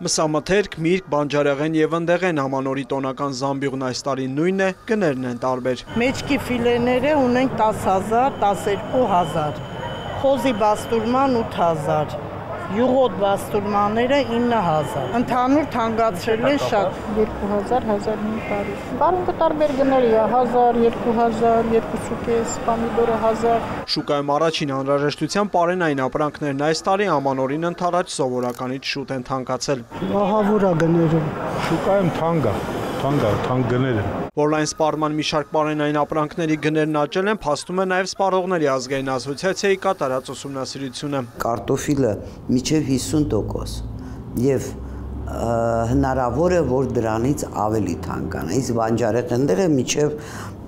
Մսամթերք, միրգ, բանջարեղեն եւ ընդեղեն ամանորի տոնական զամբյուղն այս տարի նույնն է, գներն են տարբեր։ Մեջքի ֆիլեները ունենք 10,000, 12,000, խոզի բաստուրման 8,000, յուղոտ բաստուրմանները 9,000, ընդհանուր թանկացրել են շատ 2,000, 1,500, բառունքը տարբեր գների է, 1,000, 2,000, 2,500, պամիդորը 1,000։ Շուկայում առաջին անհրաժեշտության պարենային ապրանքներն այս տարի ամանորին ընդառաջ սովորականից շուտ են թանկացել։ Ահավոր է գները։ Շուկայում թանկ գներ են։ Որ այն սպառման մի շարք պարենային ապրանքների գներն աճել են, փաստում է նաև Սպառողների ազգային ասոցիացիայի կատարած ուսումնասիրությունը։ Կարտոֆիլը մինչև 50% եւ հնարավոր է, որ դրանից ավելի թանկանա, իսկ բանջարեղենները մինչև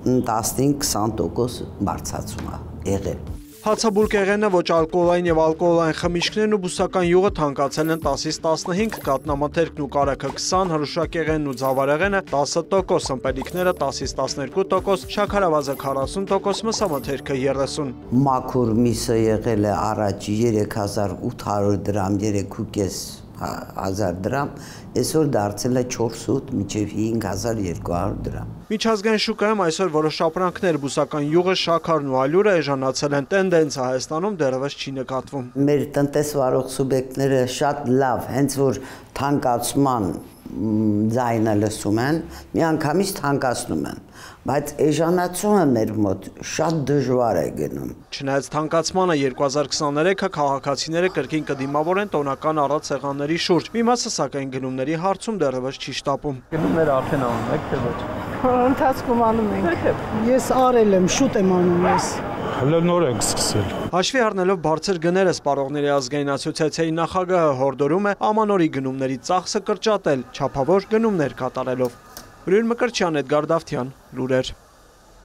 15-20% բարձրացում է եղել։ Հացաբուլկեղենը, ոչ ալկոհոլային եւ ալկոհոլային խմիչքներն ու բուսական յուղը թանկացել են 10-ից 15, կատնամթերքն ու կարագը 20, հրուշակեղենն ու ձավարեղենը 10%, ըմպելիքները 10-ից 12%, շաքարավազը 40%, մսամթերքը 30%։ Մաքուր միսը եղել է առաջ 3800 դրամ, 3,500 դրամ, այսօր դարձել է 400 մինչև 5200 դրամ։ Միջազգային շուկայում այսօր որոշ ապրանքներ, բուսական յուղը, շաքարն ու ալյուրը էժանացել են, տենդենսը Հայաստանում դեռևս չի նկատվում։ Մեր տնտեսվարող սուբյեկտները շատ լավ, հենց որ թանկացման ձայնը լսում են, միանգամից թանկացնում են, բայց էժանացումը մեր մոտ շատ դժվար է գնում։ Չնայած թանկացմանը 2023-ը քաղաքացիները կրկին կդիմավորեն տոնական առատ սեղանների շուրջ, մի մասը սակայն գնումների հարցում դեռևս չի շտապում։ Գնումները արդեն անում եք, թե ոչ։ Ընթացքում անում ենք։ Ես արել եմ, շուտ եմ անում ես։ Հələ նոր ենք սկսել։ Հաշվի առնելով բարձր գները Սպառողների ազգային ասոցիացիայի նախագահը հորդորում է ամանորի գնումների ծախսը կրճատել, չափավոր գնումներ կատարելով։ Ուրույն Մկրտչյան, Էդգար Դավթյան, լուրեր։